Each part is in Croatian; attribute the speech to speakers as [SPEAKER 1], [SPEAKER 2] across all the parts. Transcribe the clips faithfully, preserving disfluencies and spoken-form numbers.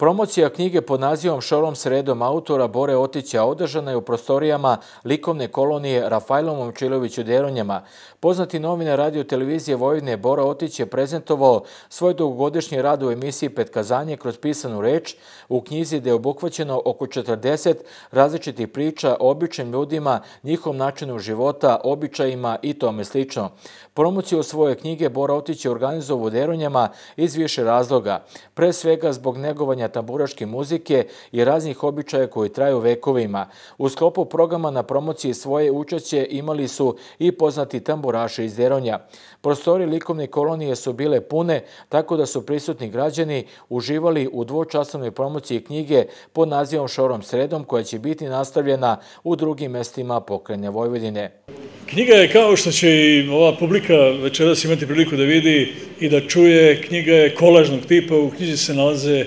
[SPEAKER 1] Promocija knjige pod nazivom Šorom sredom autora Bore Otića održana je u prostorijama likovne kolonije Rafajlom Momčilović u Deronjama. Poznati novinar radio televizije Vojvodine Bora Otić je prezentovao svoj dugogodišnji rad u emisiji Petkazanje kroz pisanu reč u knjizi gde je obuhvaćeno oko četrdeset različitih priča o običnim ljudima, njihovom načinu života, običajima i tome slično. Promociju svoje knjige Bora Otić je organizovao u Deronjama iz više razloga. Pre svega zbog negovanja tamburaške muzike i raznih običaja koji traju vekovima. U sklopu programa na promociji svoje učešće imali su i poznati tamburaši iz Deronja. Prostori likovne kolonije su bile pune, tako da su prisutni građani uživali u dvočasovnoj promociji knjige pod nazivom Šorom sredom, koja će biti nastavljena u drugim mestima pokrajine Vojvodine.
[SPEAKER 2] Knjiga je, kao što će i ova publika večeras imati priliku da vidi i da čuje, knjiga je kolažnog tipa. U knjizi se nalaze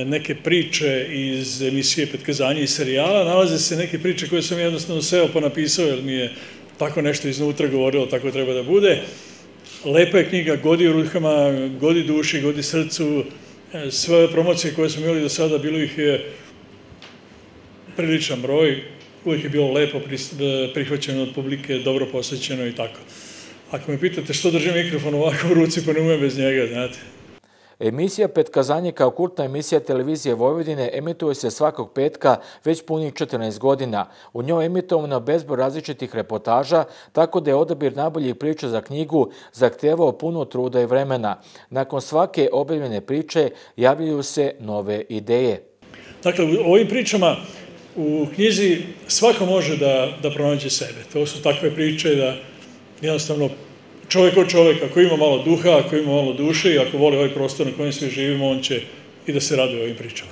[SPEAKER 2] neke priče iz emisije Petkazanje i serijala, nalaze se neke priče koje sam jednostavno seo pa napisao, jer mi je tako nešto iznutra govorilo, tako treba da bude. Lepa je knjiga, godi u rukama, godi duši, godi srcu. Sve promocije koje smo imali do sada, bilo ih je priličan broj, uvijek je bilo lepo prihvaćeno od publike, dobro posvećeno i tako. Ako me pitate što držim mikrofon ovako u ruci, pa ne umem bez njega, znate.
[SPEAKER 1] Emisija Petkazanje kao kultna emisija televizije Vojvodine emituje se svakog petka već punih četrnaest godina. U njoj emitovano bezbroj različitih reportaža, tako da je odabir najboljih priča za knjigu zahtevao puno truda i vremena. Nakon svake objavljene priče javljaju se nove ideje.
[SPEAKER 2] Dakle, u ovim pričama u knjizi svako može da, da pronađe sebe. To su takve priče da jednostavno čovjek od čovjeka, ako ima malo duha, ako ima malo duše i ako voli ovaj prostor na kojem svi živimo, on će i da se raduje ovim pričama.